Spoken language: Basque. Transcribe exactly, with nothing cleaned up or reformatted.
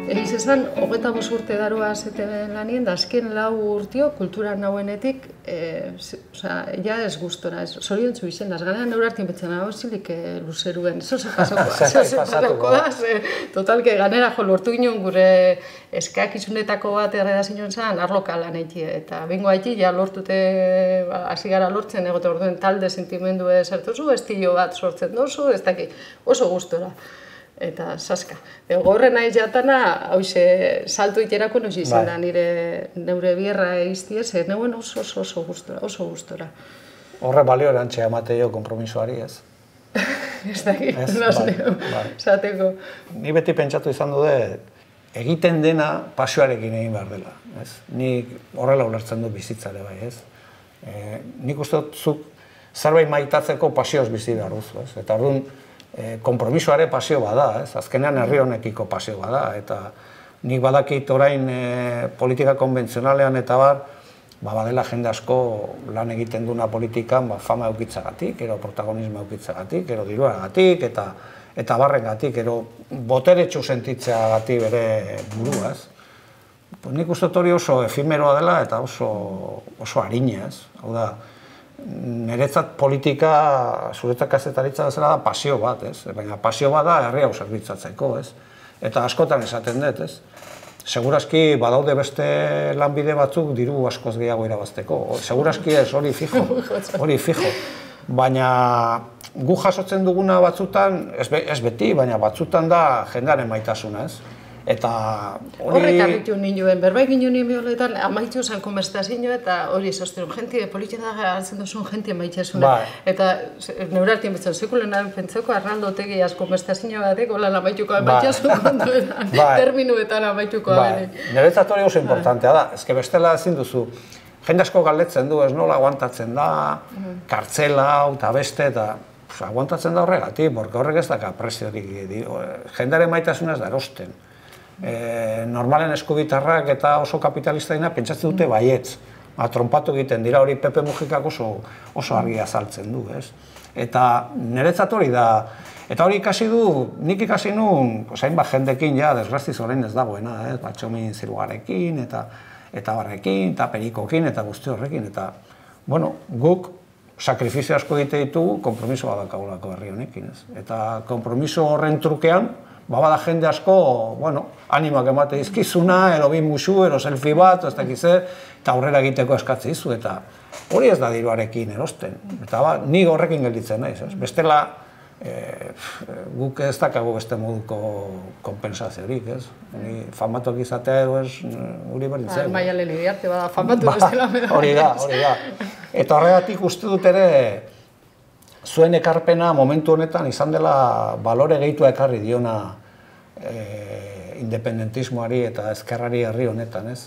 Egiz esan, hogeita bost urte daroa zeten lanien, da azken lau urtio kultura nauenetik, ja ez gustora, zoriontzu izen, az ganean neurartin betzen, hau zilik luzeruen, zoze pasatuko da, totalke ganera jo lortu ginen gure eskakizunetako bat erredazioen zen, arloka lan eki, eta bingo haiti, ja lortute, hasi gara lortzen, egote orduen talde sentimendu zertuzu, estilo bat sortzen dozu, ez daki, oso gustora. Eta saska. Gorren nahi jatana, hauze, salto iterako nozi izan da nire neure bierra egiztiez, neuen oso oso oso gustora, oso gustora. Horre balio erantxe amate jo kompromisoari ez? Ez daki, nazio, zateko. Ni beti pentsatu izan dude, egiten dena pasioarekin egin behar dela. Ni horrela ulertzen du bizitzare bai, ez? Nik uste dut zuk zerbait maitatzeko pasioz bizi behar duzu, ez? Eta orduan, kompromisoare pasio bada, ez? Azkenean herri honekiko pasio bada, eta nik badakit orain politika konbentzionalean eta bar, badela jende asko lan egiten duna politikan fama eukitzagatik, ero protagonismo eukitzagatik, ero diruagatik, eta barrengatik, ero boteretsu sentitzeagatik bere buruaz. Nik uste hori oso efimeroa dela eta oso harina, ez? Hau da, niretzat politika, zuretzat kazetaritza bezala da pasio bat, ez? Baina pasio bat da herri hau zerbitzatzeko, ez? Eta askotan esaten dut, ez? Segurazki badaude beste lanbide batzuk diru askoz gehiago irabazteko. Segurazki ez, hori fijo, hori fijo. Baina gu jasotzen duguna batzutan, ez beti, baina batzutan da jendearen maitasuna, ez? Eta hori... Horrek arritu ninduen, berbait ginen nien bioletan, amaitu zen konbertsazio eta hori zozteren, jenti, politiena hartzen duzun jenti amaitxasuna. Eta neurartien betzen, zekulen pentsako arraldo tegiaz konbertsazio batek, holan amaituko amaitxasun kontuetan, terminuetan amaituko abene. Niretzat hori oso importantea da, ezke bestela ezin duzu, jende asko galdetzen du, ez nola aguantatzen da, kartzela, eta beste, eta aguantatzen da horregatik, porque horrek ez daka presiorik, jendearen maitasuna ez da erosten. Normalen eskubitarrak eta oso kapitalista dina pentsatzen dute baietz. Trompatu egiten dira, hori Pepe Mujikak oso argia azaltzen du, ez? Eta niretzat hori da, eta hori ikasi du, nik ikasi nuen, hainbat jendekin, ja, desgraziz orain ez dagoena, ez? Batxomin zirugarekin, eta barrekin, eta perikokin, eta guzti horrekin, eta, bueno, guk sakrifizio asko egite ditugu, kompromiso badakagulako herri honekin, ez? Eta kompromiso horren trukean, babada jende asko, bueno, animak emate izkizuna, ero bin musu, ero selfie bat, ez dakize, eta aurrera egiteko eskatze izu, eta hori ez da diruarekin erosten. Eta ba, ni horrekin gelditzen naiz, ez? Bestela, guk ez dakago beste moduko kompensaziorik, ez? Famatuak izatea edo ez, guri berdintzen. Maia lehen arte bada famatu bestela. Hori da, hori da. Eta horregatik uste dut ere, zuen ekarpena momentu honetan izan dela balore gehitua ekarri diona independentismoari eta ezkerrari herri honetan, ez?